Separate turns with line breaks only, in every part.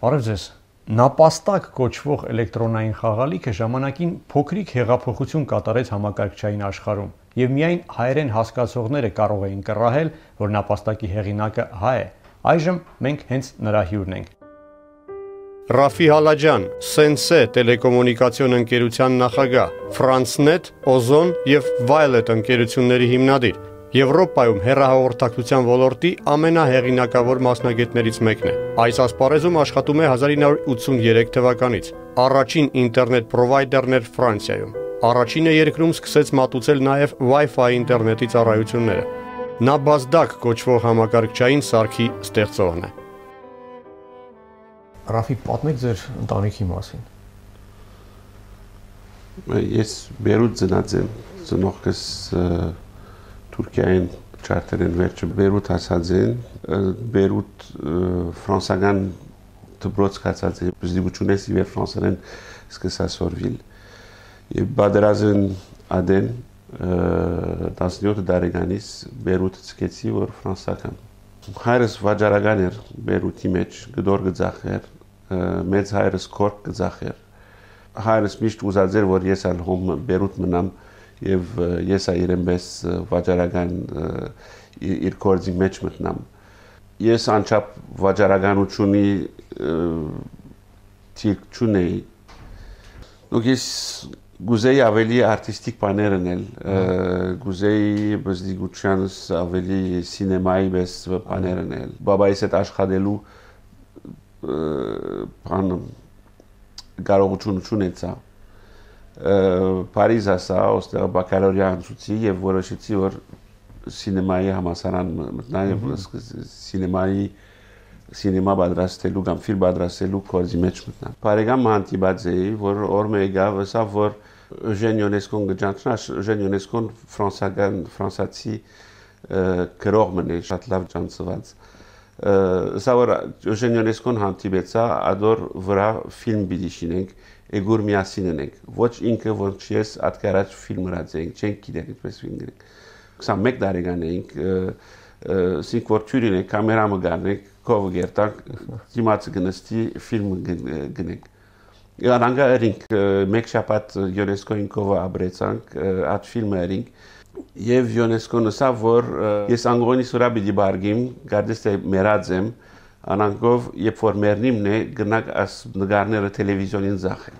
Բարև ձեզ։ Նապաստակ կոչվող էլեկտրոնային խաղալիքը ժամանակին փոքրիկ հեղափոխություն կատարեց համակարգչային աշխարհում, եւ միայն հայերեն հասկացողները կարող էին կռահել, որ նապաստակի հեղինակը հայ է։ Այժմ մենք հենց նրա հյուրն ենք։
Ռաֆի Հալաջյան, Սենսե տելեկոմունիկացիոն ընկերության նախագահ, Ֆրանսնետ, Օզոն եւ Violet ընկերությունների հիմնադիր, Եվրոպայում հեռահաղորդակցության ոլորտի ամենահեղինակավոր մասնագետներից մեկն է։ Այս ասպարեզում աշխատում է 1983 թվականից։ Առաջին ինտերնետ պրովայդերն էր Ֆրանսիայում։ Առաջինը երկրում սկսեց մատուցել նաեւ Wi-Fi ինտերնետի ծառայությունները։ Նա Բազդակ կոչվող համակարգչային սարքի ստեղծողն է։
Ռաֆի, պատմեք ձեր ընտանիքի մասին։
Ես Բերութ ծնած եմ, ծնողքս Թուրքիայում չարտերեն վերջը Բերութ հասած են, Բերութ ֆրանսական դպրոց կացած է, զդիգությունես իվեր ֆրանսերեն սկսա սորվիլ, և բադրազեն ադեն 17 դարեգանից Բերութ ծկեցի, որ ֆրանսական։ Հայրս վաճառական էր Բերութի մեջ, գդոր գծախ էր, մեծ հայրս կորկ գծախ էր։ Հայրս միշտ ուզած էր, որ ես ալ հոմ Բերութ մնամ եւ ես այրեմ բես վաճառական իր կորձի մեջ մտնամ։ Ես անչափ վաճառականությունի թիրք չունեի։ Դուք ես գուզեի ավելի արտիստիկ բաներ անել, գուզեի բզդիգությանս ավելի սինեմայի բես բաներ անել։ Բաբայիս հետ աշխատելու բան կարողություն ունեցա։ Փարիզ ասա, ոստեղ բակալորիա անցուցի եւ որոշեցի, որ սինեմայի համալսարան մտնա եւ սինեմա պատրաստելու կամ ֆիլմ պատրաստելու կորձի մեջ մտնա։ Բարեկամ հանդիպած էի, որ օրը եկավ, ասավ, որ Eugène Ionesco-ն գճանչնա, Eugène Ionesco-ն ֆրանսացի գրողն է, շատ լավ ճանաչված։ Սա որ Eugène Ionesco-ն հանդիպեցա, ադոր վրա ֆիլմ պիտի շինենք, Էգուր միասին ենք։ Ոչ ինքը, ոչ ես ատկարած ֆիլմ հրացենք, չենք գիտենք այդպես ֆիլմ գրենք։ 21 տարեկան էինք, սինք որ թյուրին ենք, կամերամը գարնենք, կովը գերտանք, դիմացը գնստի ֆիլմ գնենք։ Անգա էրինք, մեկ շապատ Յոնեսկոյին կովը աբրեցանք, այդ ֆիլմը էրինք, և Յոնեսկոն ասա, որ ես անգոնի սուրա բիդի բարգիմ, գարդես թե մերած եմ, անանգով, երբ որ մերնիմն է, գնակ աս նգարները տելևիզյոնին ձախ են։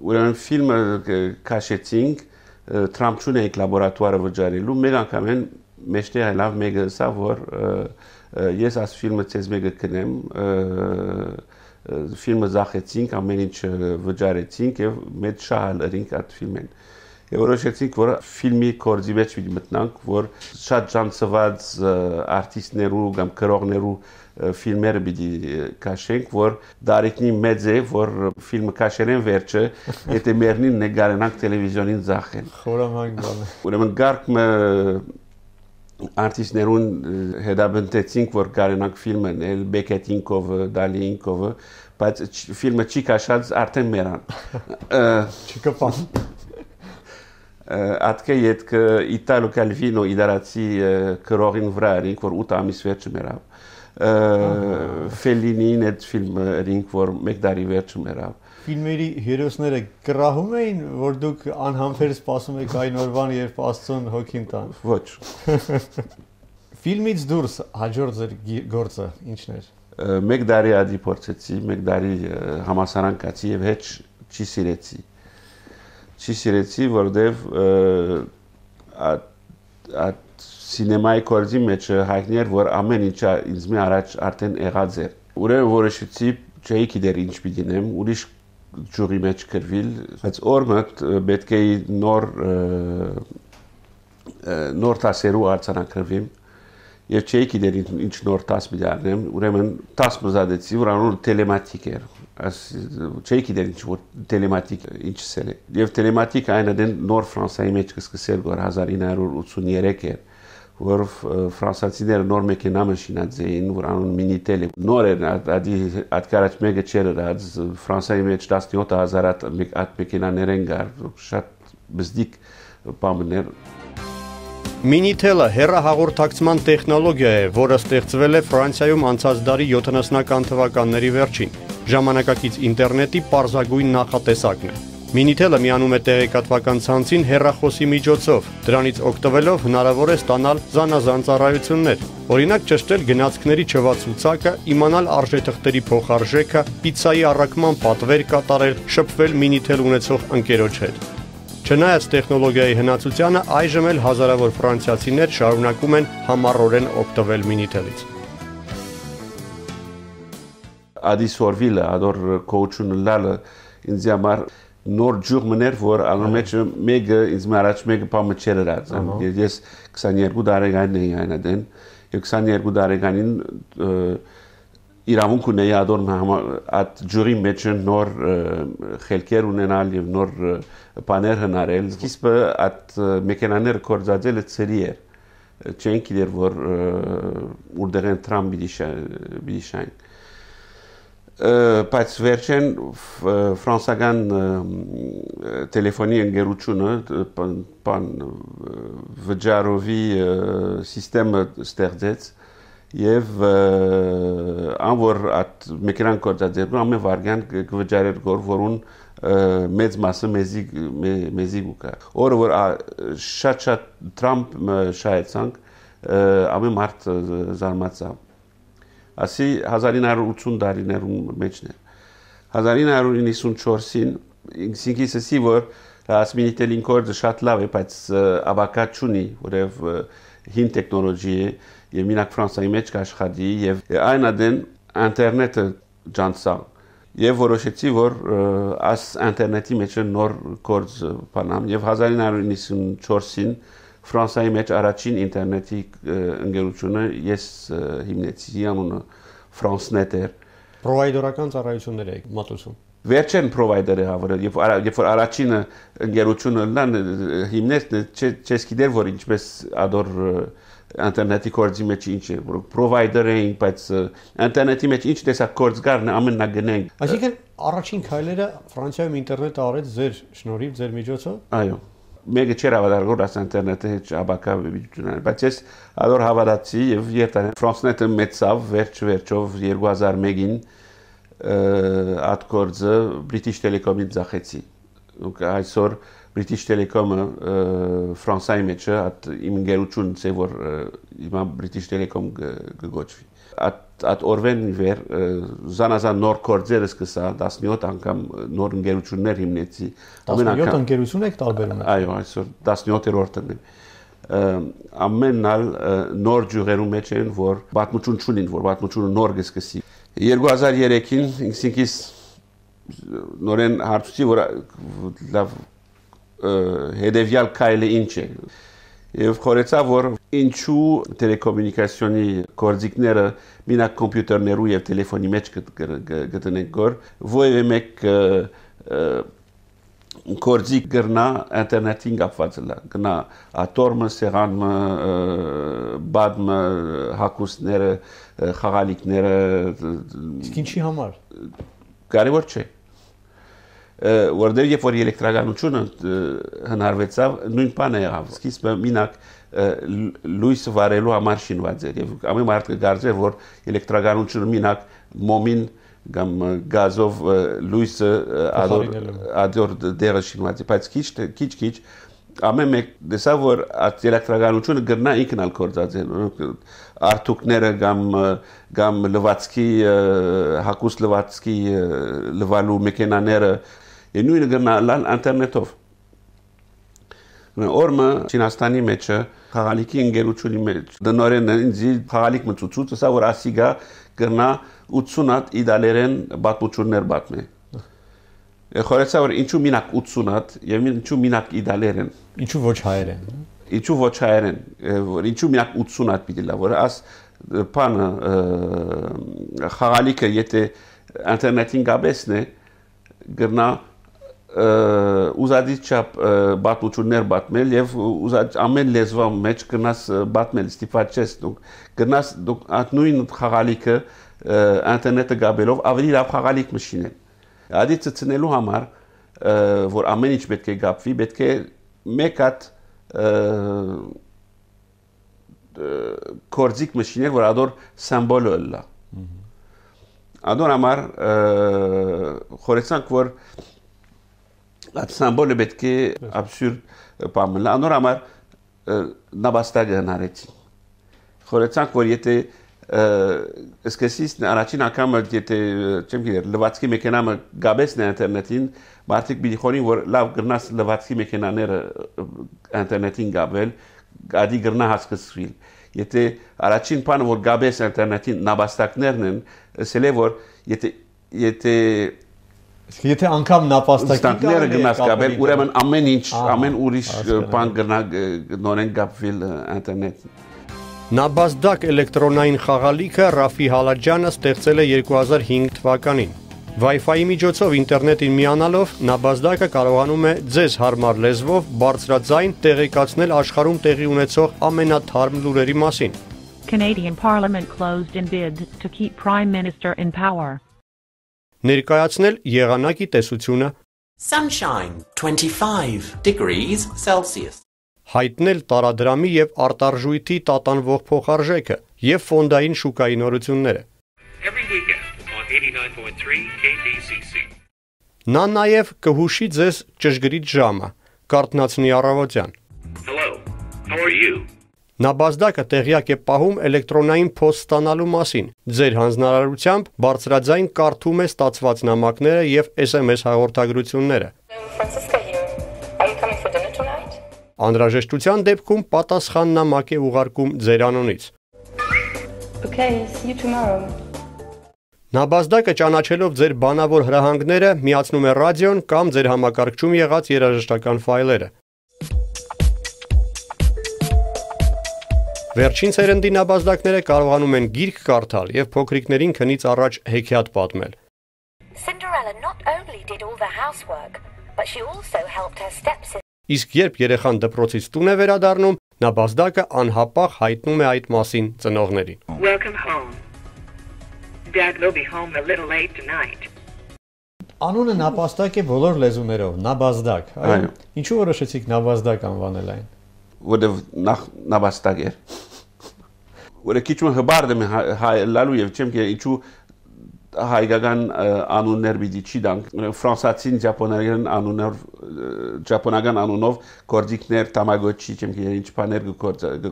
Ուրեմն ֆիլմը կաշեցինք, Թրամփչուն էինք լաբորատուարը վճարելու, մեկ անգամ են մեջտեղ լավ մեկը ասա, որ ես աս ֆիլմը ցեզ մեկը կնեմ, ֆիլմը ձախեցինք, ամեն ինչ վճարեցինք և մեծ շահալ ըրինք այդ ֆիլմեն։ Եվ որոշեցինք, որ ֆիլմի կորձի մեջ պիտի մտնանք, որ շատ ճանաչված արտիստներու կամ գրողներու ֆիլմերը պիտի կաշենք, որ դարիքնի մեծ է, որ ֆիլմը կաշերեն վերջը, եթե մերնին նգարենանք տելևիզյոնին ձախեն։
Խորամանկ բան է։
Ուրեմն գարկմը արտիստներուն հետաբնտեցինք, որ կարենանք ֆիլմ անել, Բեկետինկովը, Դալիինկովը, բայց ֆիլմը չի կաշած արդեն մերան։
Չկպան։
Ատկե ետքը Իտալո Կալվինո իդարացի կրողին վրա էինք, որ 8 ամիս վերջը մերավ։ Ֆելինին այդ ֆիլմը էինք, որ մեկ դարի վերջը մերավ։
Ֆիլմերի հերոսները կռահում էին, որ դուք անհամբեր սպասում եք այն օրվան, երբ Աստծուն հոգին տան։
Ոչ։
Ֆիլմից դուրս հաջորդ ձեր գործը ինչն էր։
Մեկ դարի ադի փորձեցի, մեկ դարի համասարան կացի եւ հետ չի սիրեցի։ Չի սիրեցի, որտեվ սինեմայի կորձի մեջ հայտնի էր, որ ամեն ինչը ինձ մի առաջ արդեն եղած էր։ Ուրեմն որոշեցի, չէի գիտեր ինչ պիտի նեմ, ուրիշ ջուրի մեջ կրվիլ, բայց օրը պետք է նոր տասերու արձանագրվիմ եւ չէի գիտեր ինչ նոր տաս պիտի արնեմ, ուրեմն տաս մզադեցի, որ անունը տելեմատիկ էր։ Չէի գիտեր ինչ որ տելեմատիկ ինչ սել է։ Եվ տելեմատիկ այն դեն նոր Ֆրանսայի մեջ կսկսել որ 1983 էր, որ ֆրանսացիները նոր մեքենա մաշինած էին, որ անուն մինիտել է։ Նոր էր, ադի ատկարաչ մեկը չեր ըրած, Ֆրանսայի մեջ 17000 այդ մեքենաներ են գար, շատ բզդիկ բամներ։
Minitel-ը հեռահաղորդակցման տեխնոլոգիա է, որը ստեղծվել է Ֆրանսիայում անցած դարի 70-ական թվականների վերջին։ Ժամանակակից ինտերնետի պարզագույն նախատեսակն է։ Minitel-ը միանում է տեղեկատվական ցանցին հեռախոսի միջոցով։ Դրանից օգտվելով հնարավոր է ստանալ զանազան ծառայություններ։ Օրինակ ճշտել գնացքների չվացուցակը, իմանալ արժեթղթերի փոխարժեքը, պիցցայի առաքման պատվեր կատարել, շփվել Minitel ունեցող ընկերոջ հետ։ Չնայած տեխնոլոգիայի հնացությանը, այժմ էլ հազարավոր ֆրանսիացիներ շարունակում են համառորեն օգտվել Minitel-ից։
Ադիսորվիլը, ադոր կոուչունը լալը ինձ համար նոր ջուղ մներ, որ անոմեջ մեկը ինձ մարաջ մեկը պամը չեր հրացան։ Ես 22 տարեկանին էի այնադեն, և 22 տարեկանին իրավունք ունեի ադոր այդ ջուղի մեջ նոր խելքեր ունենալ և նոր բաներ հնարել։ Սկիզբը այդ մեքենաները կործածելը ծերի էր, չեն գիտեր, որ ուր են Թրամփ պիտի շային։ Բայց վերջեն ֆրանսական տելեֆոնի ընկերությունը վճարովի սիստեմը ստեղծեց և անոր այդ մեքենան կործածելու ամեն վարգյան կվճարեր որուն մեծ մասը մեզի գուկա։ Օրը որ շատ Թրամփ շայեցանք, ամեն մարդ զարմացավ։ Ասի 1980 տարիներում մեջն էր։ 1994-ին ինքսինքիս ասի, որ Minitel-ին կորձը շատ լավ է, բայց ավակա չունի, որև հին տեխնոլոգի է, և մինակ Ֆրանսայի մեջ կաշխատի, և այն ադեն ինտերնետը ջանցա, և որոշեցի, որ աս ինտերնետի մեջ նոր կորձ բանամ, և 1994-ին Ֆրանսայի մեջ առաջին ինտերնետի ընկերությունը ես հիմնեցի, անունը FranceNet էր։
Պրովայդորական ծառայություններ եք մատուցում։
Վերջեն պրովայդերը հավրել, երբ որ առաջինը ընկերությունը լան հիմնեց, չես գիտեր, որ ինչպես ադոր ինտերնետի կորձի մեջ ինչ է, որ պրովայդեր էին, բայց ինտերնետի մեջ ինչ տեսակ կորձ կար, ամեն նա գնենք։
Այսինքն առաջին քայլերը Ֆրանսիայում ինտերնետը արեց ձեր շնորհիվ, ձեր միջոցով։
Այո։ Մեկը չէր հավատալ, որ աս ինտերնետը հետ աբակա վիճունան, բայց ես ադոր հավատացի և երտան FranceNet-ը մեծավ վերջով 2001-ին այդ կորձը British Telecom-ին ձախեցի։ Այսօր British Telecom-ը Ֆրանսայի մեջ այդ իմ ընկերությունն է, որ հիմա British Telecom կգոչվի։ Այդ օրվեն վեր զանազան նոր կորձերը սկսա 17 անգամ նոր ընկերություններ հիմնեցի։
17 ընկերություն եք տարբերում։
Այո, այսօր 17-րդն է։ Ամենալ նոր ջուղերու մեջ են, որ պատմություն չունին, որ պատմությունը նոր կսկսի։ 2003-ին ինքսինքիս նորեն հարցուցի, որ լավ հետևյալ քայլը ինչ է։ Եվ խորեցա, որ ինչու տելեկոմունիկացիոնի կորձիկները մինակ կոմպյուտերներու և տելեֆոնի մեջ գտնենք գոր, որևէ մեկ կորձիկ գրնա ինտերնետին կապված լա, գնա ատորմը, սեղանմը, բադմը, հակուսները, խաղալիքները։
Իսկ ինչի համար։
Կարևոր չէ։ Որտեղ երբ որ էլեկտրականությունը հնարվեցավ, նույն բանը եղավ։ Սկիզբը մինակ լույսը վարելու համար շինված էր, և ամեն մարդ կգարձեր, որ էլեկտրականությունը մինակ մոմին կամ գազով լույսը ադոր դերը շինված է, բայց քիչ ամեն մեկ տեսավ, որ այդ էլեկտրականությունը գրնա ինքնալ կործածել, արթուկները կամ լվացքի, հակուս լվացքի լվալու մեքենաները, նույնը գրնա լալ ինտերնետով։ Օրմը Չինաստանի մեջը խաղալիքի ընկերությունի մեջ դնորեն ինձի խաղալիք մծուցուց, ասա որ ասիգա գրնա 80 հատ իդալերեն բատմություններ բատմե։ Խորեցա որ ինչու մինակ 80 հատ և ինչու մինակ իդալերեն։
Ինչու ոչ հայերեն։
Ինչու ոչ հայերեն, ինչու մինակ 80 հատ պիտի լա, որ աս պանը խաղալիքը եթե ինտերնետին գաբեսն է, գրնա ուզադից չապ բատմություններ բատմել և ամեն լեզվա մեջ գնաս բատմել, ստիպված չես գնաս այդ նույն խաղալիքը ինտերնետը գաբելով ավելի լավ խաղալիք մշինել։ Ադի ծծնելու համար, որ ամեն ինչ պետք է գապվի, պետք է մեկ հատ կորձիկ մշիներ, որ ադոր սամբոլը լա։ Ադոր համար խորեցանք, որ այդ սամբոլը պետք է աբսուրդ պամելա, ադոր համար նաբաստագը հնարեցին։ Խորեցանք, որ եթե սկսից առաջին անգամը եթե չեմ գիտեր լվացքի մեքենամը գաբեսն է ինտերնետին մարդիկ պիտի խորին որ լավ գրնաս լվացքի մեքենաները ինտերնետին գաբել գադի գրնա հասկացվիլ եթե առաջին բանը որ գաբես ինտերնետին նապաստակներն են ասել է որ եթե
անգամ նապաստակները
գնաս գաբել ուրեմն ամեն ինչ ամեն ուրիշ բան գրնա նորեն գաբվել ինտերնետ
Նաբազդակ էլեկտրոնային խաղալիքը Ռաֆի Հալաջյանը ստեղծել է 2005 թվականին։ Wi-Fi-ի միջոցով ինտերնետին միանալով Նաբազդակը կարողանում է ձեզ հարմար լեզվով բարձրաձայն տեղեկացնել աշխարհում տեղի ունեցող ամենաթարմ լուրերի մասին։
Canadian Parliament closed in bid to keep Prime Minister in power.
Ներկայացնել եղանակի տեսությունը
Sunshine 25 degrees Celsius.
Հայտնել տարադրամի եւ արտարժույթի տատանվող փոխարժեքը եւ ֆոնդային շուկայի նորությունները։
Every weekend on 89.3 KDCC.
Նա նաեւ կհուշի ձեզ ճշգրիտ ժամը, կարտնացնի առավոտյան։
Hello. How are you?
Նաբազդակը տեղյակ է պահում էլեկտրոնային փոստ ստանալու մասին։ Ձեր հանձնարարությամբ բարձրաձայն կարդում է ստացված նամակները եւ SMS հաղորդագրությունները։
Francisca here. Are you coming for dinner tonight?
Անհրաժեշտության դեպքում պատասխան նամակ է ուղարկում ձեր անունից։
Okay, see you tomorrow.
Նաբազդակը ճանաչելով ձեր բանավոր հրահանգները միացնում է ռադիոն կամ ձեր համակարգչում եղած երաժշտական ֆայլերը։ Վերջին սերնդի նաբազդակները կարողանում են գիրք կարդալ եւ փոքրիկներին քնից առաջ հեքիաթ պատմել։
Cinderella not only did all the housework, but she also helped her stepsister.
Իսկ երբ երեխան դպրոցից տուն է վերադառնում, նաբազդակը անհապաղ հայտնում է այդ մասին ծնողներին։
Welcome home. Dad will be home a little late tonight.
Անունը նապաստակ է բոլոր լեզուներով, նաբազդակ։
Այո։
Ինչու որոշեցիք նաբազդակ անվանել այն։
որը նախ նապաստակ էր որը քիչ հբարդ եմ լալու եւ չեմ կերել ինչու հայկական անուններ պիտի չի դանք ֆրանսացին ճապոնական անունով կորձիկներ տամագոչի չեմ կերել ինչ բաներ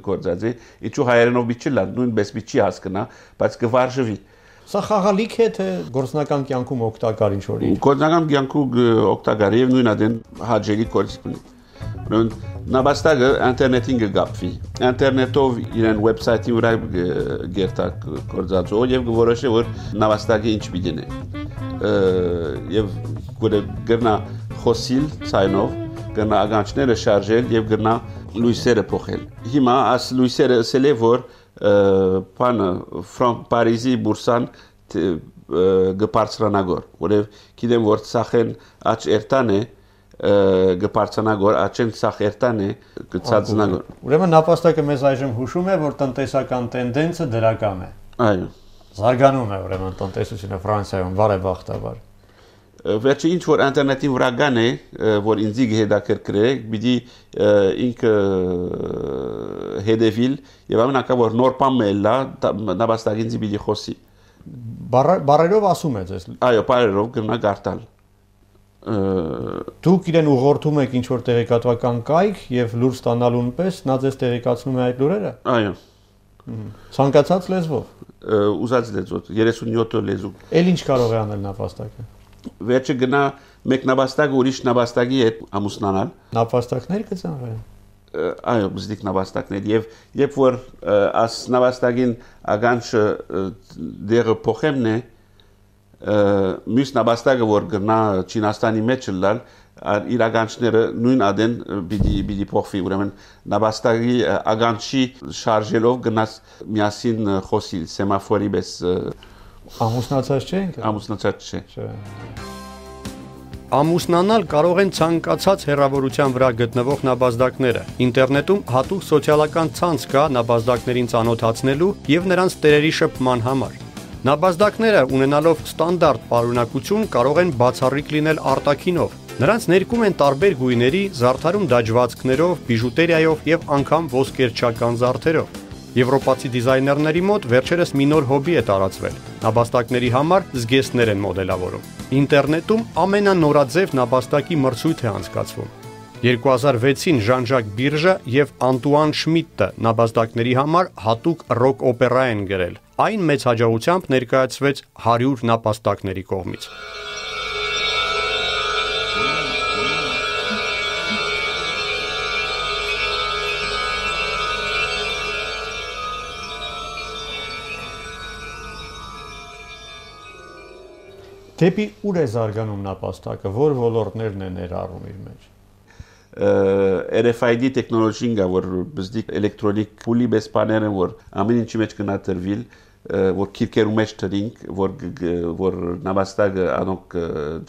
գործածի ինչու հայերենով պիտի լան նույնպես պիտի հասկանա բայց կվարժվի
Սա խաղալիք է թե գործնական կյանքում օգտակար ինչ որ
գործնական կյանքում օգտակար եւ նույն adեն հաջելի կորձիկ ունի Նաբաստակը ինտերնետին կգապվի ինտերնետով իրեն վեբսայթի վրա գերտա կորձածով եւ որոշե որ նաբաստակը ինչ պիտի դնի եւ գտնա խոսիլ ցայնով գտնա ագանչները շարժել եւ գտնա լույսերը փոխել հիմա աս լույսերը ասել է որ բանը Պարիզի բուրսան գբարձրանագոր որեւ գիտեմ որ ցախեն աչ երտան է գբարձանագոր աչեն սախերտան է գծածնագոր
Ուրեմն նապաստակը մեզ այժմ հուշում է որ տնտեսական տենդենսը դրական է
Այո
Զարգանում է ուրեմն տնտեսությունը Ֆրանսիայում բարեբախտաբար
Վերջի ինչ որ ինտերնետի վրա կան է որ ինձի հետաքրքրե պիտի ինքը հետևիլ եւ ամենակա որ նոր բան մելա նապաստակին ինձի պիտի խոսի
Բարերով ասում է ձեզ
Այո բարերով գնա գարտալ
Դուք իրեն ուղղորդում եք ինչ որ տեղեկատվական կայք եւ լուր ստանալուն պես նա ձեզ տեղեկացնում է այդ լուրերը
Այո
Ցանկացած լեզվով
Ուզած լեզվով 37 լեզու
Էլ ինչ կարող է անել նապաստակը
Վերջը գնա մեկ նապաստակ ուրիշ նապաստակի հետ ամուսնանալ
Նապաստակներ կծանվեն
Այո բզդիկ նապաստակներ եւ երբ որ աս նապաստակին ագանչը դերը փոխեմն է մյուս նապաստակը որ գնա Չինաստանի մեջ լալ իրականները նույն adեն պիտի փոխվի ուրեմն նապաստակի ագանչի շարժելով գնաց միասին խոսիլ սեմաֆորի պես
ամուսնացած չենք
ամուսնացած չէ
Ամուսնանալ կարող են ցանկացած հեռավորության վրա գտնվող նապաստակները ինտերնետում հատուկ սոցիալական ցանց կա նապաստակներին ծանոթացնելու եւ նրանց տերերի շփման համար Նապաստակները ունենալով ստանդարտ պարունակություն կարող են բացառիկ լինել արտաքինով Նրանց ներկում են տարբեր գույների, զարդարում դաջվածքներով, բիժուտերիայով եւ անգամ ոսկերչական զարդերով Եվրոպացի դիզայներների մոտ վերջերս մի նոր հոբի է տարածվել։ Նապաստակների համար զգեստներ են մոդելավորում։ Ինտերնետում ամենանորաձև նապաստակի մրցույթ է անցկացվում։ 2006-ին Ժան-Ժակ Բիրժը եւ Անտուան Շմիդտը նապաստակների համար հատուկ ռոք օպերա են գրել։ Այն մեծ հաջողությամբ ներկայացվեց 100 նապաստակների կողմից։
Դեպի ուր է զարգանում նապաստակը, որ ոլորտներն է ներառում իր մեջ։
RFID տեխնոլոգիան գա, որ բզդիկ էլեկտրոնիկ փուլի բեսպաները, որ ամեն ինչի մեջ կնատրվիլ, որ քիրքերու մեջ տրինք, որ նապաստակը անոնք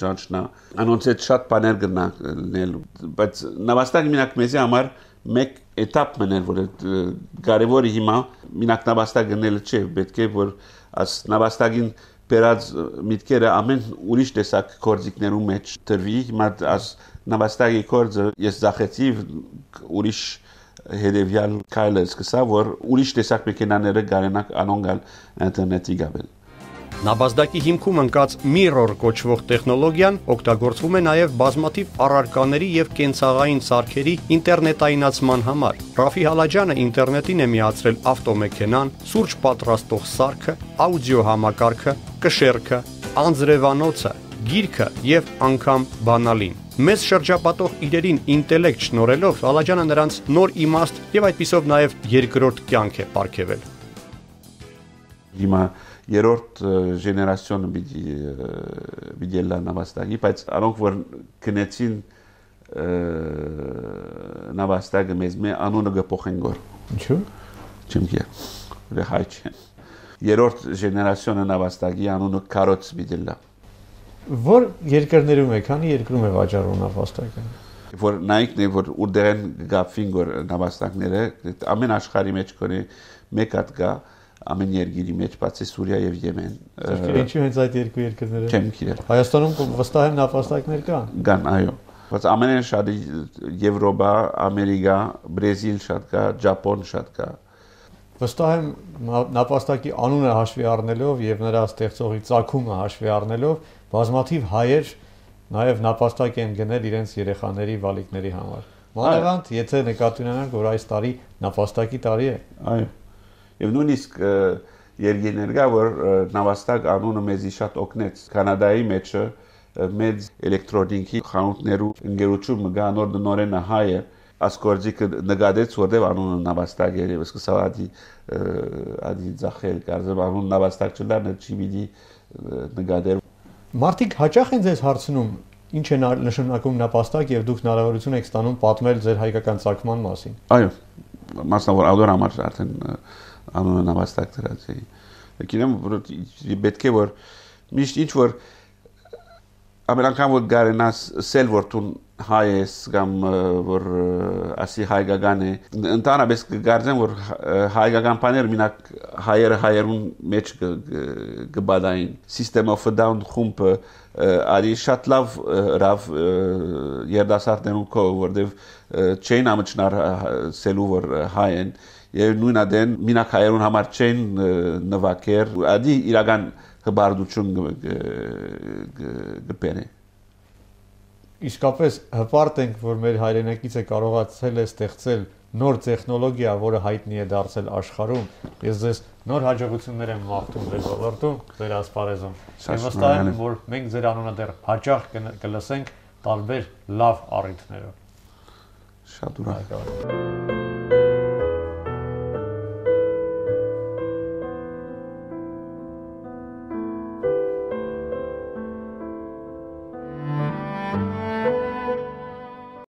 ջանչնա, անոնց հետ շատ բաներ գնալ, բայց նապաստակը մինակ մեզի համար մեկ էտապ մներ, որ կարևորը հիմա մինակ նապաստակ գնելը չէ, պետք է որ աս նապաստակին Պերած միտքերը ամեն ուրիշ տեսակ կորձիկներու մեջ տրվի, հիմա աս նապաստակի կորձը ես զախեցի ուրիշ հետևյալ քայլը սկսա, որ ուրիշ տեսակ մեքենաները գարենակ անոնգալ ինտերնետի գաբել։
Նապաստակի հիմքում ընկած Mirror կոչվող տեխնոլոգիան օգտագործվում է նաև բազմաթիվ առարկաների եւ կենցաղային սարքերի ինտերնետայնացման համար։ Ռաֆի Հալաջյանը ինտերնետին է միացրել ավտոմեքենան, սուրճ պատրաստող սարքը, աուդիո համակարգը, կշեռքը, անձրևանոցը, գիրքը եւ անգամ բանալին։ Մեզ շրջապատող իրերին ինտելեկտ շնորհելով Հալաջյանը նրանց նոր իմաստ եւ այդպիսով նաև երկրորդ կյանք է պարգևել։
Հիմա երրորդ ժեներացիոնը պիտի լա նապաստակի, բայց անոնք որ գնեցին նապաստակը մեզ մե անունը գփոխեն գոր։
Ինչու՞։
Չեմ գիտի։ Դե հայ չէ։ Երրորդ ժեներացիոնը նապաստակի անունը կարոց պիտի լա։
Որ երկրներում է, քանի երկրում է վաճառվում նապաստակը։
Որ նայքն է որ ուդերեն գապին գոր նապաստակները ամեն աշխարհի մեջ կորի մեկ հատ գա ամեն երկրի մեջ բացի Սուրիա եւ Եմեն։
Ինչու հենց այդ երկու երկրները։
Չեմ գիտեր։
Հայաստանում վստահ եմ նապաստակներ կան։
Կան, այո։ Բայց ամենեն շատ Եվրոպա, Ամերիկա, Բրազիլ շատ կա, Ճապոն շատ կա։
Վստահ եմ նապաստակի անունը հաշվի առնելով եւ նրա ստեղծողի ծագումը հաշվի առնելով բազմաթիվ հայեր նաեւ նապաստակ են գնել իրենց երեխաների վալիկների համար։ Մանավանդ եթե նկատի ունենանք որ այս տարի նապաստակի տարի է։
Այո։ Եվ նույնիսկ երկիներ կա, որ նապաստակ անունը մեզի շատ օգնեց։ Կանադայի մեջը մեծ էլեկտրոնիկի խանութներու ընկերություն մգա նոր նորենը հայը ասկորձիկը նկատեց, որտեղ անունը նապաստակ էր, եւ սկսավ ադի ձախել, կարծեմ անուն նապաստակ չլան, չի պիտի նկատեր։
Մարդիկ հաճախ են ձեզ հարցնում, ինչ է նշանակում նապաստակ եւ դուք հնարավորություն եք ստանում պատմել ձեր հայկական ծագման մասին։
Այո, մասնավոր ադոր համար արդեն անունը նապաստակ դրած է։ Գիտեմ, որ պետք է որ միշտ ինչ որ ամեն անգամ որ գարենաս սել որ տուն հայ ես կամ որ ասի հայկական է ընդհանրապես կգարձեմ որ հայկական բաներ մինակ հայերուն մեջ կբադային System of a Down խումբը արի շատ լավ ռավ երդասարտներուն կո որտեվ չեն ամճնար սելու որ հայ են եւ նույն adեն մինակ հայերուն համար չեն նվակեր ադի իրական հբարդություն գպերը
Իսկապես հպարտ ենք, որ մեր հայրենակիցը կարողացել է ստեղծել նոր տեխնոլոգիա, որը հայտնի է դարձել աշխարհում։ Ես ձեզ նոր հաջողություններ եմ մաղթում ձեր ոլորտում, ձեր ասպարեզում։ Ես վստահ եմ, որ մենք ձեր անունը դեռ հաճախ կլսենք տարբեր լավ առիթներով։
Շատ ուրախ։